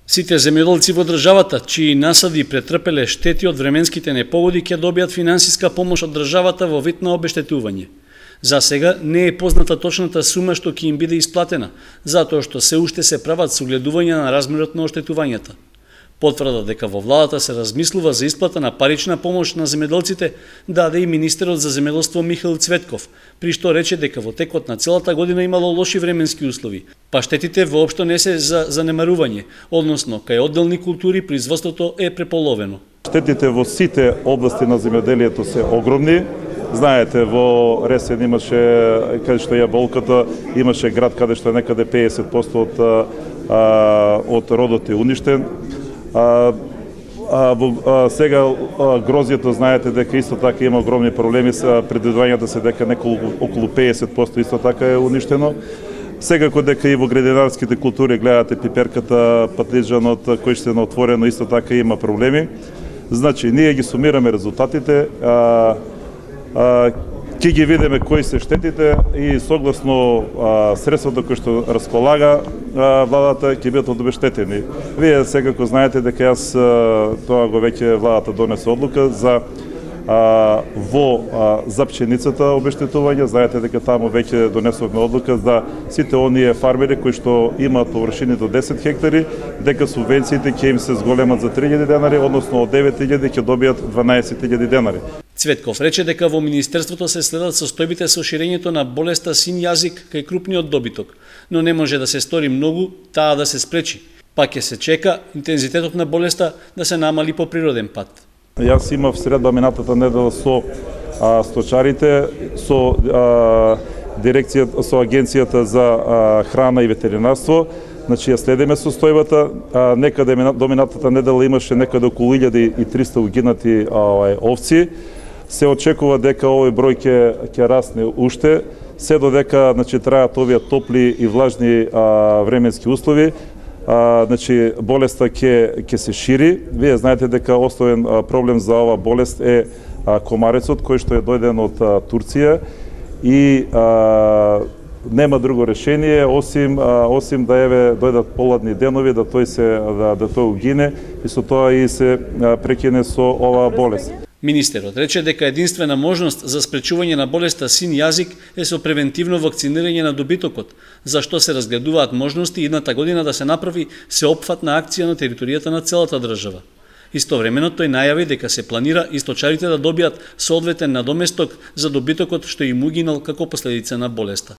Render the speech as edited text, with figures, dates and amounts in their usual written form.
Сите земјоделци во државата, чии насади претрпеле штети од временските непогоди, ќе добијат финансиска помош од државата во вид на обештетување. За сега не е позната точната сума што ќе им биде исплатена, затоа што се уште се прават согледувања на размерот на оштетувањата. Потврда дека во владата се размислува за исплата на парична помош на земјоделците даде и министерот за земјоделство Михаил Цветков, при што рече дека во текот на целата година имало лоши временски услови, па штетите воопшто не се за занемарување, односно кај одделни култури производството е преполовено. Штетите во сите области на земјоделието се огромни. Знаете, во Ресен имаше, каде што е болката, имаше град каде што е некаде 50% од родот е уништен. Сега грозјето, знаете дека исто така има огромни проблеми со предвидувањата се дека околу 50% исто така е уништено. Секако дека и во градинарските култури гледате пиперката, патлиџанот, кој што е отворено исто така има проблеми. Значи, ние ги сумираме резултатите, ќе ги видиме кои се штетите и согласно средствата кои што располага владата ќе бидат обештетени. Вие секако знаете дека јас тоа го веќе владата донесе одлука за за пченицата обештетување. Знаете дека таму веќе донесовме одлука за сите оние фармери кои што имаат површини до 10 хектари, дека субвенциите ќе им се зголемат за 3000 денари, односно од 9000 ќе добијат 12000 денари. Цветков рече дека во Министерството се следат состојбите со ширењето на болеста син јазик кај крупниот добиток, но не може да се стори многу таа да се спречи. Па ќе се чека интензитетот на болеста да се намали по природен пат. Јас имав средба минатата недела со сточарите, со дирекцијата, со агенцијата за храна и ветеринарство. Значи, ја следиме состојбата. Некаде до минатата недела имаше некаде околу 1300 угинати овци. Се очекува дека овој број ќе расне уште, се додека трајат овие топли и влажни временски услови. Значи, болеста ќе се шири. Вие знаете дека основен проблем за оваа болест е комарецот, кој што е дојден од Турција и нема друго решение осим да дојдат поладни денови, да тој угине и со тоа и се прекине со оваа болест. Министерот рече дека единствена можност за спречување на болеста син јазик е со превентивно вакцинирање на добитокот, за што се разгледуваат можности идната година да се направи сеопфатна акција на територијата на целата држава. Истовремено тој најави дека се планира и сточарите да добијат соодветен надоместок за добитокот што им угинал како последица на болеста.